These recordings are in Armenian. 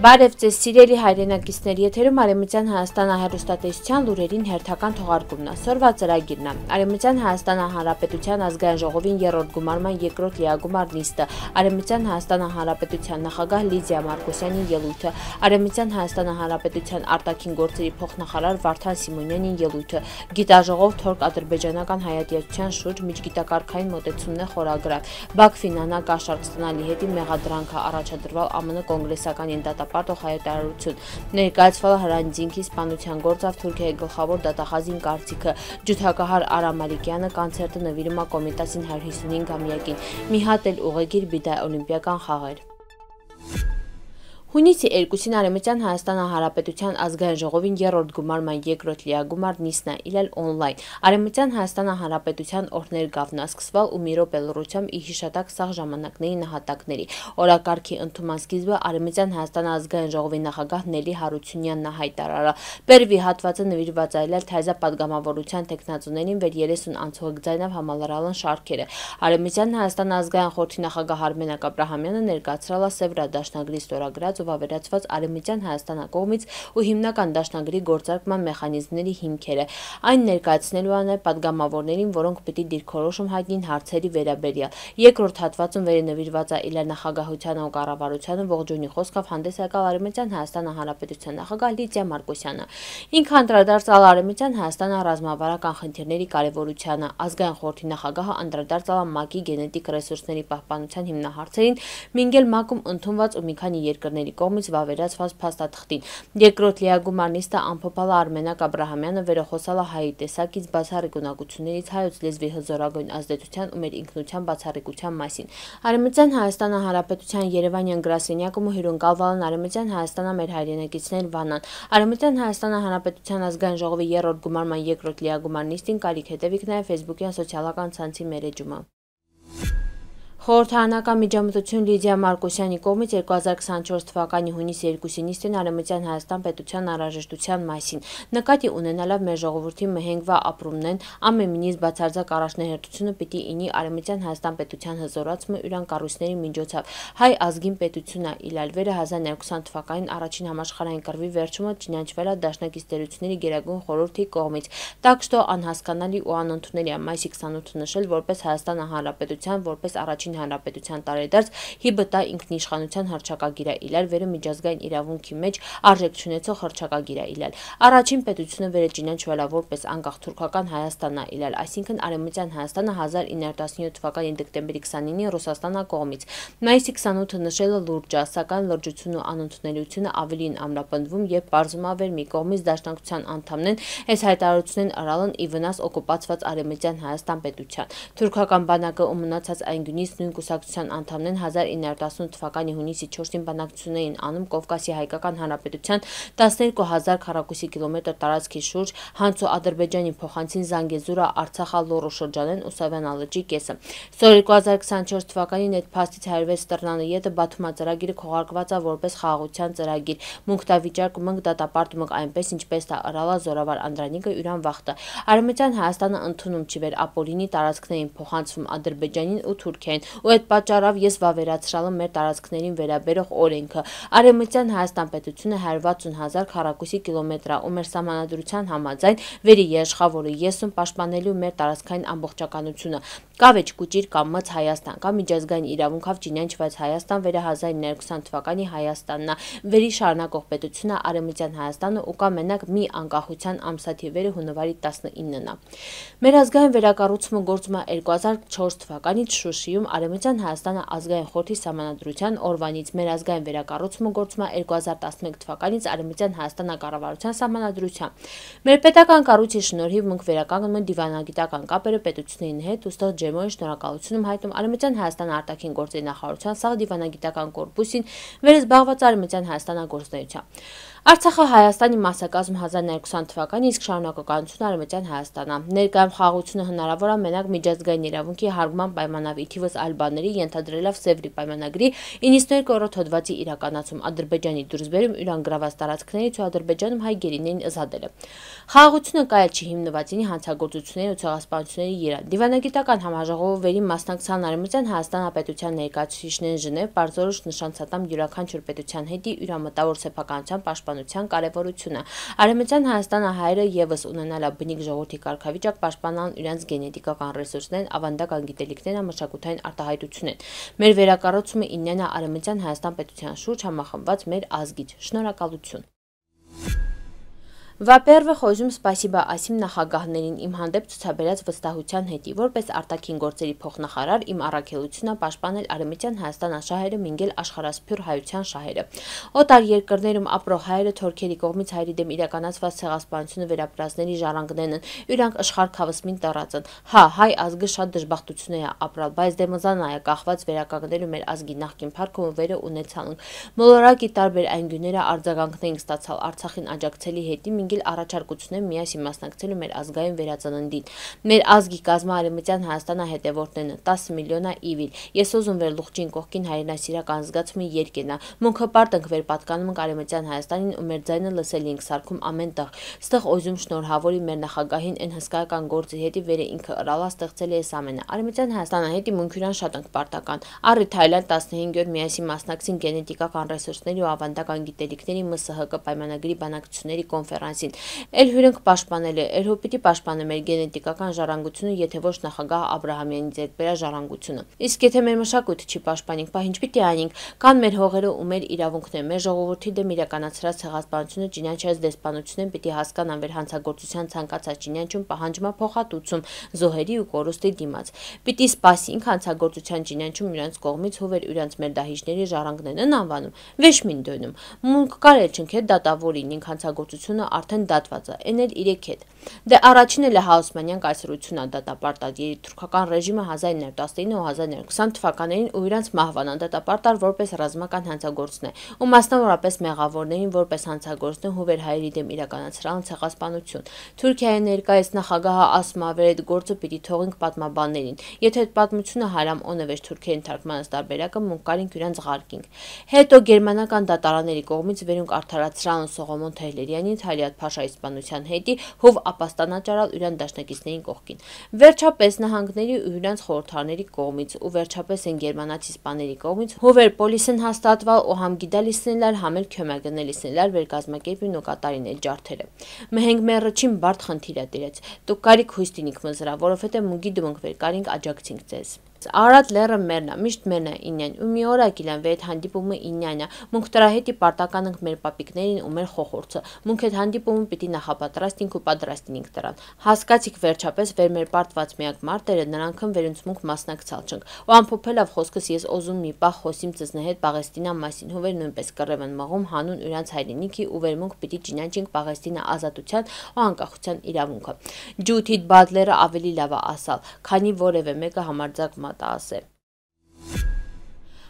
Բարև ձեզ սիրելի հայրենակիցներ, եթերում Արևմտյան Հայաստան հեռուստատեսության լուրերին հերթական թողարկումն է։ Սորվա ծրագիրն է։ Արևմտյան Հայաստան Հանրապետության ազգային ժողովին երրորդ գումարման երկրորդ լիագումար նիստը, Արևմտյան Հայաստան Հանրապետության նախագահ Լիդիա Մարկոսյանի ելույթը, Արևմտյան Հայաստան Հանրապետության արտաքին գործերի փոխնախարար Վարդան Սիմոնյանի ելույթը, գիտաժողով Թորք ադրբեջանական հայատյացության շուրջ միջգիտակարգային մոտեցումներ խորագրավ, Բաքվին կաշառք ստանալի հետի մեղադրանքը առաջադրվալ ԱՄՆ կոնգրեսական դատապարտող հայտարարություն, ներկայացվել Հրանձինքի սպանության գործով Թուրքիայի գլխավոր դատախազին կարծիքը, ջութակահար Արամ Մալիկյանը կոնցերտը նվիրում է Կոմիտասին 155-ամյակին, մի հատ էլ ուղեգիր բիդայ օլիմպիական խաղեր։ Հունիսի 2-ին Արևմտյան Հայաստան Հանրապետության ազգային ժողովին երրորդ գումարման երկրորդ լիագումար նիստն է իրել օնլայն։ Արևմտյան Հայաստան Հանրապետության օրհներ գավնասկսվել ու մի րոպե լռությամբ ի հիշատակ սաղ ժամանակների նահատակների։ Օրակարգի ընդունման սկիզբը Արևմտյան Հայաստան ազգային ժողովի նախագահ Նելի Հարությունյանն հայտարարել։ Բերվի հատվածը նվիրված է այլել թայզա պատգամավորության տեխնացուներին վեր 30 անցողիկ ձայնով համալրալն շարքերը։ Արևմտյան Հայաստան ազգային խորհրդի նախագահ Արմենակ Աբրահամյանը ներկայացրել է Սևրա դաշնագրի ստորագրած վավերացված Արևմտյան Հայաստան կողմից ու հիմնական դաշնագրի գործարկման մեխանիզմների հիմքերը։ Այն ներկայացնելու է նաև պատգամավորներին, որոնք պիտի դիրքորոշում հայտնին հարցերի վերաբերյալ։ Երկրորդ հատվածում վերնվիրված է իլեր նախագահությանը ու կառավարությանը ողջունի խոսքով հանդես եկալ Արևմտյան Հայաստան Հանրապետության նախագահ Լիդիա Մարկոսյանը։ Ինքը անդրադարձել Արևմտյան Հայաստան ռազմավարական խնդիրների կարևորությանը, ազգային խորհրդի նախագահը անդրադարձել ՄԱԿ-ի գենետիկ ռեսուրսների պահպանության հիմնահարցերին, մինգել ՄԱԿ-ում ընդունված ու մի քանի երկրների կողմից վավերացված փաստաթղթին։ Երկրորդ լիագումար նիստը ամփոփել Արմենակ Աբրահամյանը վերոխոսալ հայի տեսակից բացառիկ ունակություններից հայոց լեզվի հզորագույն ազդեցության ու մեր ինքնության բացառիկության մասին։ Արևմտյան Հայաստան Հանրապետության Երևանյան գրասենյակում հյուրընկալվել են Արևմտյան Հայաստանը մեր հայրենակիցներ Վանան։ Արևմտյան Հայաստան Հանրապետության ազգային ժողովի երրորդ գումարման երկրորդ լիագումար նիստին կարիք հետևիկ նաև ֆեյսբուքյան սոցիալական ցանցի մերեջումը։ Խորհրդարանական միջամտություն Լիդիա Մարկոսյանի կողմից 2024 թվականի հունիսի 2-ի նիստին Արևմտյան Հայաստան պետության անհրաժեշտության մասին նկատի ունենալով մեր ժողովրդի մհենգվա ապրումնեն ամենից բացարձակ առաջնահերթությունը պիտի ինի Արևմտյան Հայաստան պետության հզորացումը ուրան կառույցների միջոցով հայ ազգին պետությունն իլալվերը 1920 թվականին առաջին համաշխարհային կռվի վերջումը ճանաչվել է դաշնակից տերությունների գերագույն խորհրդի կողմից, так что անհասկանալի ու անընդունելի է մայիսի 28-ը նշել որպես Հայաստան Հանրապետության որպես առաջին հանրապետության տարեդարձ հիբտա ինքնիշխանության հռչակագիր է իլալ վերը միջազգային իրավունքի մեջ արժեք չունեցող հռչակագիր է իլալ։ Առաջին պետությունը վերը ճանաչվել է որպես անկախ թուրքական Հայաստանն է իլալ, այսինքն Արևմտյան Հայաստանը 1917 թվականի դեկտեմբերի 29-ին Ռուսաստանա կողմից։ Մայիսի 28-ը նշելը լուրջ է, սակայն լրջությունն ու անընդունելիությունը ավելին ամրապնդվում եւ բարձում ավեր մի կողմից դաշնակցության անդամներն այս հայտարարությունն արալն ի վնաս օկուպացված Արևմտյան Հայաստան պետության։ Թուրքական բանակը ու մնացած այն գունից նույն կուսակցության անդամներն 1918 թվականի հունիսի 4-ին բանակցություններին անում Կովկասի հայկական հանրապետության 12000 քառակուսի կիլոմետր տարածքի շուրջ Հանցո Ադրբեջանի փոխանցին Զանգեզուրը Արցախա Լոռու շրջանեն ու Սավանա լճի կեսը։ Սոր 2024 թվականին այդ փաստից 106 տրնանը յետը Բաթումա ծրագիրը քողարկված է որպես խաղաղության ծրագիր։ Մունքտավիճակ մնք դատապարտում այնպես ինչպես դա արալա զորավար Անդրանիկը յուրան վախտը։ Արևմտյան Հայաստանը ընդունում չի վեր ապօրինի տարածքներին փոխանցվում Ադրբեջանին ու Թուրքիային ու այդ պատճառով ես վավերացրալը մեր տարածքներին վերաբերող օրենքը։ Արևմտյան Հայաստան պետությունը 160,000 քառակուսի կիլոմետր է ու մեր սահմանադրության համաձայն վերի երաշխավորը եսում պաշտպանելու մեր տարածքային ամբողջականությունը։ Կավեճ կուճիր կամ մց Հայաստան կամ միջազգային իրավունքով ճանաչված Հայաստան վերը 1920 թվականի Հայաստանն է, վերի շարունակող պետությունը Արևմտյան Հայաստանը ու կա մենակ մի անկախության ամսաթիվերը հունվարի 19-ն է։ Մեր ազգային վերակառուցումը գործում է 2004 թվականից Շուշիում Արևմտյան Հայաստանը ազգային խորհրդի սահմանադրության օրվանից, մեր ազգային վերակառուցումը գործում է 2011 թվականից Արևմտյան Հայաստան կառավարության սահմանադրությամբ։ Մեր պետական կառույցի շնորհիվ մենք վերականգնում ենք դիվանագիտական կապերը պետությունների հետ ու ստեղ ջերմորեն շնորհակալություն հայտնում Արևմտյան Հայաստան արտաքին գործերի նախարարության սաղ դիվանագիտական կորպուսին վերզբաղված Արևմտյան Հայաստան գործունեությամբ։ Արցախը Հայաստանի մասնակազմ 1920 թվականի, իսկ շարունակականությունը Արևմտյան Հայաստանը։ Ներկայում խաղաղությունը հնարավոր է մենակ միջազգային իրավունքի հարգման պայմանով, ի թիվս այլ բաների, ենթադրելով Սևրի պայմանագրի 92-րդ հոդվածի իրականացում, Ադրբեջանի դուրսբերում իրան գրաված տարածքներից ու Ադրբեջանում հայ գերիներին ազատելը։ Խաղաղությունը կայել չի հիմնվածինի հանցագործությունների ու ցեղասպանությունների երան։ Դիվանագիտական համաժողովերի մասնակցան Արևմտյան Հայաստան պետության ներկայացուցիչներն Ժնև, Պարզորոշ նշանցատամ յուրաքանչյուր պետության հետի յուրամտավոր սեփականության պաշտպանության կարևորությունը։ Արևմտյան Հայաստանը հայերը ևս ունենալա բնիկ ժողովրդի կարգավիճակ պաշտպանան իրենց գենետիկական ռեսուրսներն, ավանդական գիտելիքներն, մշակութային արտահայտություններն։ Մեր վերակառուցումը իննն է Արևմտյան Հայաստան պետության շուրջ համախմբված մեր ազգից։ Շնորհակալություն։ Во-первых, խոզում սպասիբա ասիմ նախագահներին իմ հանդեպ ցուցաբերած վստահության հետի, որպես արտաքին գործերի փոխնախարար իմ առաքելությունն է պաշտպանել Արևմտյան Հայաստան շահերը, մինգել աշխարհասփյուր հայության շահերը։ Օտար երկրներում ապրող հայերը թուրքերի կողմից հայերի դեմ իրականացված ցեղասպանությունը վերապրածների ժառանգներն են, իրանք աշխարհ քավսմին տարածն։ Հա, հայ ազգը շատ դժբախտություններ է ապրալ, բայց դեմոզանա է կախված վերականգնելու մեր ազգի նախկին փառքը ու վերը ունեցանք։ Մոլորակի տարբեր անգյուները արձագանքներին ստացալ Արցախին աջակցելի հետի մինգել առաջարկություններ միասին մասնակցելու մեր ազգային վերածննդին։ Մեր ազգի կազմը Արևմտյան Հայաստանը հետևորդներն 10 միլիոնա իվիլ։ Ես ուզում վեր լուղջին կողքին հայրենասիրական զգացումի երկենա։ Մունքը վեր պատկանում ենք Արևմտյան Հայաստանին ու մեր ձայնը լսելի ենք սարքում ամեն տեղ։ Ստեղ օզում շնորհավորի մեր նախագահին են հսկայական գործի հետի վերը ինքը ըրալա ստեղծել է այս ամենը։ Արևմտյան Հայաստանը հետի մունքյուրան շատ ենք պարտական։ Առի Թայլանդ 15 օր միասին մասնակցին գենետիկական ռեսուրսների ու ավանդական գիտելիքների ՄՍՀԿ պայմանագրի բանակցությունների կոնֆերանսին։ Էլ հյուրենք պաշտպանել է, էլ հոպիտի պաշտպանը մեր գենետիկական ժառանգությունը, եթե ոչ նախագահ Աբրահամյանի ձեռքբերած ժառանգությունը։ Իսկ եթե մեր մշակույթը չի պաշտպանենք, բա ինչ պիտի անենք։ Կան մեր հողերը ու մեր իրավունքները, մեր ժողովրդի դեմ իրականացրած ցեղասպանությունը ճինանչած դեսպանությունն պիտի հասկանան վեր հանցագործության ցանկացած ճինանչում պահանջումա փոխհատուցում զոհերի ու կորուստի դիմաց։ Պիտի սպասենք հանցագործության ճինանչում իրանց կողմից հովեր իրանց մեր դահիճների ժառանգներն են անվանում, վեշմին դոնում։ Մունք կարել չնք հետ դատավորին ինք հանցագործությունը արդեն դատված է, էնել իրեք հետ։ Դե առաջին էլ Հաուսմանյան կայսրությունն է դատապարտած թուրքական ռեժիմը 1919 ու 1920 թվականներին ու իրանց մահվան դատապարտար որպես ռազմական հանցագործներ ու մասնավորապես մեղավորներին որպես հանցագործներ հովեր հայերի դեմ իրականացրան ցեղասպանություն։ Թուրքիայի ներկայիս նախագահը ասում է վեր այդ գործը պիտի թողենք պատմաբաններին։ Եթե այդ պատմությունը հարամ օնևեջ թուրքերին թարգմանած տարբերակը մունկարինք իրանց ղարկինք։ Հետո գերմանական դատարանների կողմից վերոնք արդարացրան Սողոմոն Թեհլերյանի Թալիաթ Փաշայի սպանության հետի հով ապաստանաճարալ իրան դաշնակիցներին կողքին։ Վերջապես նահանգների ու իրանց խորհրդարների կողմից ու վերջապես են գերմանացի սպաների կողմից հովեր պոլիսեն հաստատվալ ու համ գիդալիսնելար համ էլ քյոմագնելիսնելար վերկազմակերպին ու կատարին էլ ջարդերը։ Մհենք մեռչին բարդ խնդիր է դերեց։ Դուք կարիք հույստինիք մզրա, որովհետև մուգի դմոնք վեր կարինք աջակցինք ձեզ։ Արադ լերը մերնա, միշտ մերնա ինյան, ու մի օր ակիլան վետ հանդիպումը ինյանա, մունք դրա հետի պարտական ենք մեր պապիկներին ու մեր խոխորձը, մունք այդ հանդիպումը պիտի նախապատրաստինք ու պատրաստինք դրան, հասկացիք վերջապես վեր մեր պարտված միակ մարտերը նրանքն վերոնց մունք մասնակցալ չնք, ու ամփոփելով խոսքս ես օզում մի պահ խոսիմ ծզնեհետ Պաղեստինա մասին, հովեր նույնպես կռև են մղում հանուն իրանց հայրենիքի ու վեր մունք պիտի ճինանչենք Պաղեստինա ազատության ու անկախության իրավունքը։ Ջութիդ Բադլերը ավելի լավ է ասալ, քանի որևէ մեկը համարձակ մատա ասե։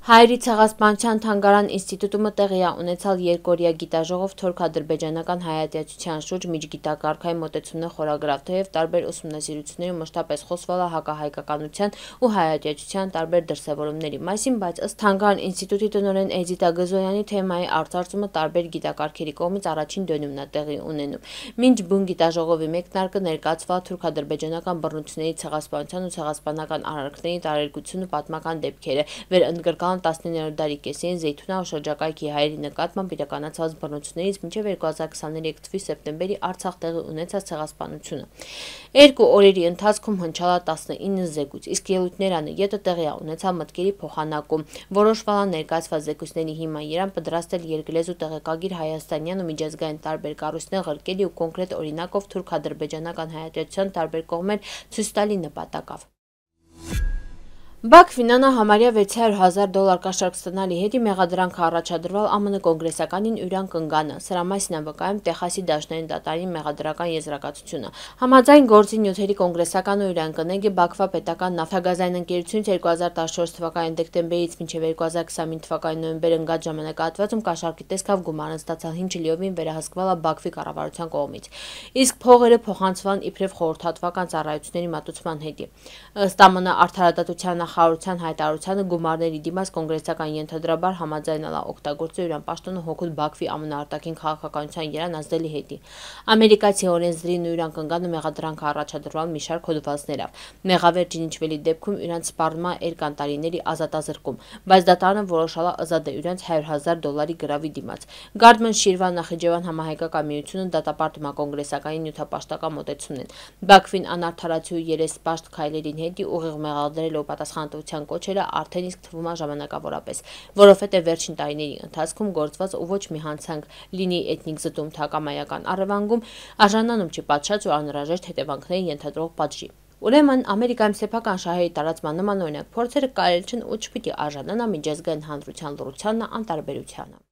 Հայերի ցեղասպանության թանգարան ինստիտուտումը տեղի է ունեցալ երկօրյա գիտաժողով թուրք-ադրբեջանական հայատյացության շուրջ միջգիտակարգային մոտեցումներ խորագրավ, թեև տարբեր ուսումնասիրությունների մշտապես խոսվել է հակահայկականության ու հայատյացության տարբեր դրսևորումների մասին, բայց ըստ թանգարան ինստիտուտի տնօրեն Էդիտա Գզոյանի թեմայի արծարծումը տարբեր գիտակարգերի կողմից առաջին դönümն է տեղի ունենում։ Մինչ բուն գիտաժողովի մեկնարկը ներկայացվել թուրք-ադրբեջանական բռնությունների ցեղասպանության ու ցեղասպանական արարքների տարերգությունը պատմական դեպքերը վերընդգրկան 19-րդ դարի կեսերին Զեյթունա ու շրջակայքի հայերի նկատմամբ իրականացված բռնություններից մինչև 2023 թվականի սեպտեմբերի Արցախ տեղի ունեցած ցեղասպանությունը։ Երկու օրերի ընթացքում հնչալա 19 զեկույց, իսկ ելույթներանը յետը տեղի է ունեցավ մտքերի փոխանակում, որոշվել է ներկայացված զեկույցների հիման երան պատրաստել երկլեզու տեղեկագիր հայաստանյան ու միջազգային տարբեր կառույցներ ղրկելի ու կոնկրետ օրինակով թուրք-ադրբեջանական հայատյացության տարբեր կողմեր ցույց տալի նպատակով։ Բաքվին համարյա 600,000 կաշառք ստանալի հետի մեղադրանքը առաջադրվել ԱՄՆ կոնգրեսականին Յուրան Կնգանը, սրա մասին է վկայում Տեխասի դաշնային դատարանի մեղադրական եզրակացությունը։ Համաձայն գործի նյութերի կոնգրեսականը Յուրան Կնեգը Բաքվա պետական նավթագազային ընկերությունից 2014 թվականի դեկտեմբերից մինչև 2025 թվականի նոյեմբեր ընկած ժամանակահատվածում կաշառքի տեսքով գումարը ստացալ 5 լիովին վերահսկվել է Բաքվի կառավարության կողմից, իսկ փողերը փոխանցվել իբրև խորհրդատվական ծառայությունների մատուցման հետի։ Ըստ ԱՄՆ արդարադատության նախարարության հայտարարությանը գումարների դիմաց կոնգրեսական ենթադրաբար համաձայնել է օգտագործել Յուրան պաշտոնը հօգուտ Բաքվի ԱՄՆ արտաքին քաղաքականության երան ազդելի հետի։ Ամերիկացի օրենսդրին Յուրան Կնգանը մեղադրանքը առաջադրվել մի շարք հոդվածներով։ Մեղավեր ճանաչվելի դեպքում իրանց սպառնում է երկանտարիների ազատազրկում, բայց դատարանը որոշել է ազատել իրանց $100,000 գրավի դիմաց։ Գարդման Շիրվա Նախիջևան համահայկական միությունը դատապարտում է կոնգրեսականի նյութապաշտական մոտեցումն։ Բաքվին անարդարացի ու երեսպաշտ քայլերին հետի ուղիղ մեղադրելով պատասխանատվության կոչերը արդեն իսկ թվում է ժամանակավորապես, որովհետև վերջին տարիների ընթացքում գործված ու ոչ մի հանցանք լինի էթնիկ զտում թակամայական առևանգում արժանանում չի պատշաճ ու անհրաժեշտ հետևանքների ենթադրող պատժի։ Ուրեմն Ամերիկայում սեփական շահերի տարածման նման օրինակ փորձերը կարելի չեն ու չպիտի արժանանա միջազգային հանրության լռությանն անտարբերությանը։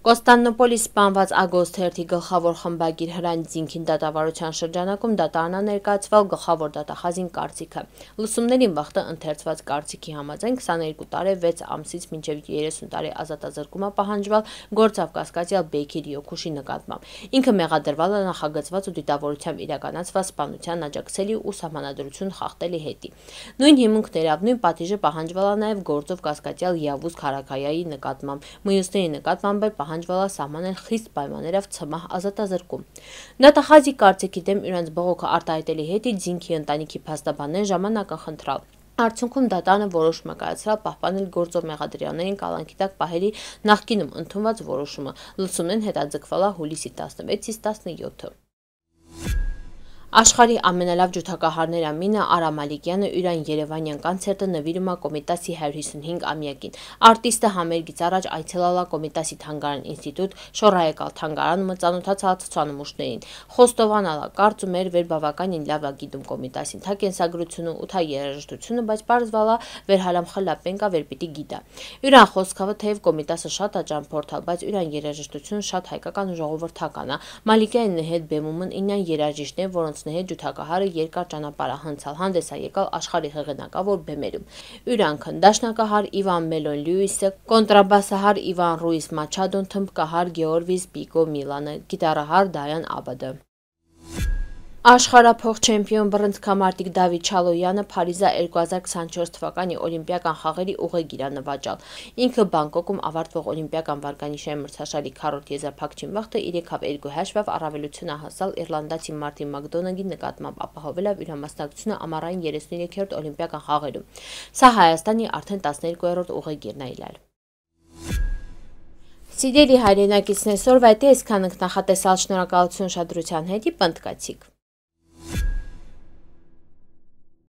Կոստանդնուպոլի սպանված Ագոստ թերթի գլխավոր խմբագիր Հրանտ Զինքին դատավարության շրջանակում դատարանը ներկայացվել գլխավոր դատախազին կարծիքը։ Լսումներին վաղտը ընթերցված կարծիքի համաձայն 22 տարի 6 ամսից մինչև 30 տարի ազատազրկում է պահանջվել գործավ կասկածյալ Բեյքիր Յոքուշի նկատմամբ։ Ինքը մեղադրվել է նախագծված ու դիտավորությամբ իրականացված սպանության աջակցելի ու սահմանադրություն խախտելի հետի։ Նույն հիմունքներով նույն պատիժը պահանջվել է նաև գործով կասկածյալ Յավուզ Քարաքայայի նկատմամբ, մյուսների նկատմամբ պահանջվել է սահմանել խիստ պայմաններով ցմահ ազատազրկում։ Դատախազի կարծիքի դեմ իրանց բողոքը արտահայտելի հետի Զինքի ընտանիքի փաստաբաններ ժամանակ են խնդրել։ Արդյունքում դատարանը որոշում է կայացրել պահպանել գործով մեղադրյալներին կալանքի տակ պահերի նախկինում ընդունված որոշումը։ Լսումներն հետաձգվել է հուլիսի 16-ից 17։ Աշխարհի ամենալավ ջութակահարներ ամինը Արա Մալիկյանը Յուրան Երևանյան կոնցերտը նվիրում է Կոմիտասի 155-ամյակին։ Արտիստը համերգից առաջ այցելել է Կոմիտասի թանգարան ինստիտուտ, շոռայեկալ թանգարանում ծանոթացալ ցուցանմուշներին, խոստովանել է կարծում էր վեր բավականին լավ է գիտում Կոմիտասին, թա կենսագրությունը ու թա երաժշտությունը, բայց պարզվել է վերհալամ խլապենկա վեր պիտի գիտա։ Յուրան խոսքավը թեև Կոմիտասը շատ է ճամփորդալ, բայց Յուրան երաժշտությունը շատ հայկական ու ժողովրդական է։ Մալիկյանի հետ բեմումն ինյան երաժիշտներ, որոնց հետ ջութակահարը երկար ճանապարհ է հնցալ, հանդես է եկալ աշխարհի հեղինակավոր բեմերում։ Յուրանքն դաշնակահար Իվան Մելոն Լյուիսը, կոնտրաբասահար Իվան Ռուիս Մաչադոն, թմբկահար Գեորգիս Պիկո Միլանը, գիտարահար Դայան Աբադը։ Աշխարհափոխ չեմպիոն բռնցքամարտիկ Դավիթ Չալոյանը Փարիզը 2024 թվականի օլիմպիական խաղերի ուղեգիր է նվաճել։ Ինքը Բանգկոկում ավարտվող օլիմպիական վարկանիշային մրցաշարի քառորդ եզրափակչին վաղտը 3-2 հաշվով առավելություն է հասալ իռլանդացի Մարտին Մակդոնագի նկատմամբ, ապահովելով իր մասնակցությունը ամառային 33-րդ օլիմպիական խաղերում։ Սա Հայաստանի արդեն 12-րդ ուղեգիրն է իլալ։ Սիրելի հայրենակիցներ, այսօրվա հետ այսքան ենք նախատեսալ, շնորհակալություն ուշադրության հետ, պնդկացիք։